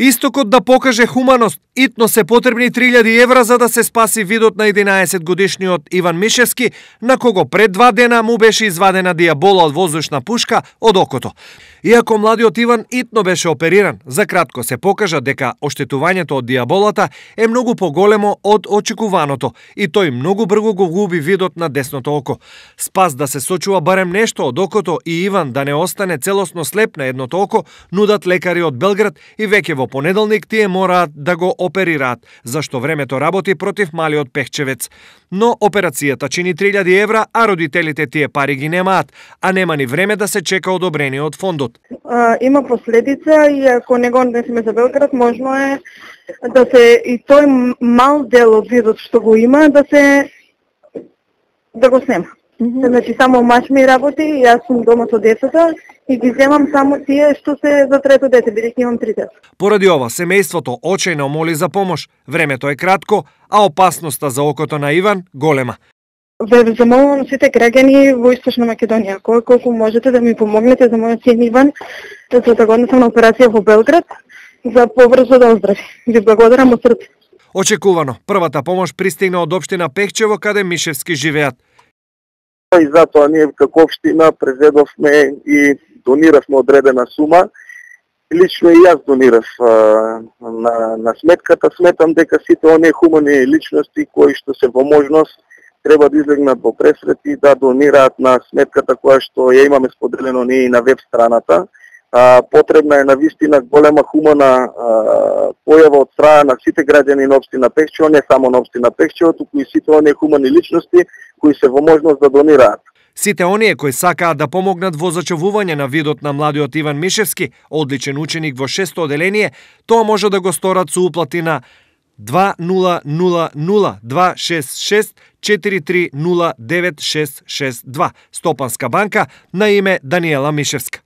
Истокот да покаже хуманост, итно се потребни 3000 евра за да се спаси видот на 11 годишниот Иван Мишевски, на кого пред 2 дена му беше извадена дијабола од воздушна пушка од окото. Иако младиот Иван итно беше опериран, за кратко се покажа дека оштетувањето од дијаболата е многу поголемо од очекуваното и тој многу брзо го губи видот на десното око. Спас да се сочува барем нешто од окото и Иван да не остане целосно слеп на едното око, нудат лекари од Белград и веќе во понеделник тие мораат да го оперираат, зашто времето работи против малиот пехчевец. Но операцијата чини 3000 евра, а родителите тие пари ги немаат, а нема ни време да се чека одобрение од фондот. Има последица и ако не го однесеме за Белград, можно е да се и тој мал дел од видот што го има да го снема. Значи само маж ми работи, јас сум дома со децата и ги земам само тие што се за трето дете, бидејќи имам 3 деца. Поради ова, семејството очајно моли за помош. Времето е кратко, а опасноста за окото на Иван голема. Ве замолувам сите граѓани во Источна Македонија, колку можете да ми помогнете за мојот син Иван, за да го однесам на операција во Белград, за побрзо да оздрави. Ви благодарам од срце. Очекувано, првата помош пристигна од општина Пехчево, каде Мишевски живеат. И затоа ние како општина преведовме и дониравме одредена сума. Лично и јас донирав на сметката. Сметам дека сите оние хумани личности кои што се во можност треба да излегнат во пресрет и да донираат на сметката која што ја имаме споделено ние и на веб страната. Потребна е навистина голема хумана појава од страна на сите граѓани на општина Пехчево, не само на општина Пехчево, туку и сите оние хумани личности кои се во можност да донираат. Сите оние кои сакаат да помогнат во зачувување на видот на младиот Иван Мишевски, одличен ученик во 6-то оделение, тоа може да го сторат со уплати на 2000-266 4309662 Стопанска банка на име Даниела Мишевска.